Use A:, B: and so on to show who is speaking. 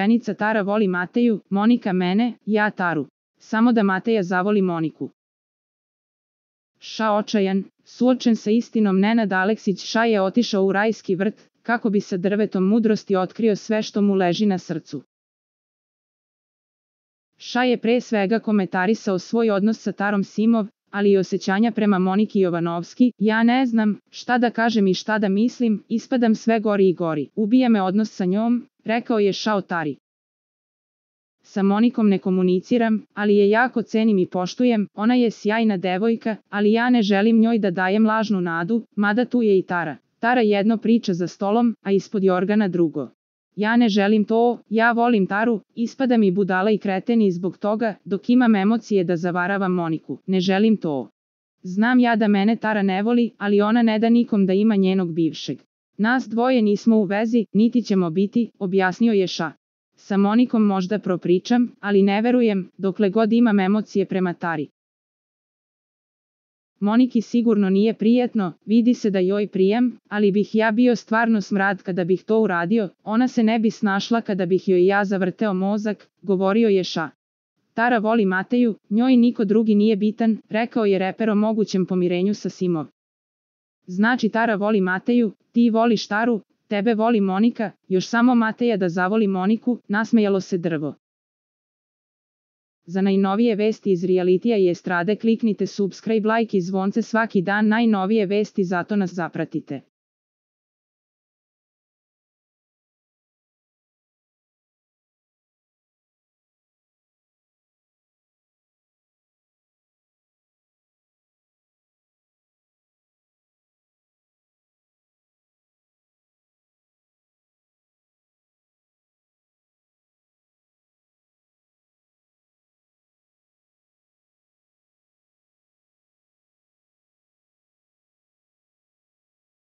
A: stepenica. Tara voli Mateju, Monika mene, ja Taru. Samo da Mateja zavoli Moniku. Ša očajan, suočen sa istinom, Nenad Aleksić Ša je otišao u rajski vrt, kako bi sa drvetom mudrosti otkrio sve što mu leži na srcu. Ša je pre svega komentarisao svoj odnos sa Tarom Simov, ali i osjećanja prema Moniki Jovanovski. Ja ne znam šta da kažem i šta da mislim, ispadam sve gori i gori. Ubija me odnos sa njom, rekao je Ša o Tari. Sa Monikom ne komuniciram, ali je jako cenim i poštujem, ona je sjajna devojka, ali ja ne želim njoj da dajem lažnu nadu, mada tu je i Tara. Tara jedno priča za stolom, a ispod jorgana drugo. Ja ne želim to, ja volim Taru, ispada mi budala i kreten i zbog toga, dok imam emocije da zavaravam Moniku, ne želim to. Znam ja da mene Tara ne voli, ali ona ne da nikom da ima njenog bivšeg. Nas dvoje nismo u vezi, niti ćemo biti, objasnio je Ša. Sa Monikom možda propričam, ali ne verujem, dokle god imam emocije prema Tari. Moniki sigurno nije prijatno, vidi se da joj prijam, ali bih ja bio stvarno smrad kada bih to uradio, ona se ne bi snašla kada bih joj ja zavrteo mozak, govorio je Ša. Tara voli Mateju, njoj niko drugi nije bitan, rekao je reper o mogućem pomirenju sa Simov. Znači Tara voli Mateju, ti voliš Taru, tebe voli Monika, još samo Mateja da zavoli Moniku, nasmejalo se drvo. Za najnovije vesti iz realitija i estrade kliknite subscribe, like i zvonce svaki dan, najnovije vesti, zato nas zapratite.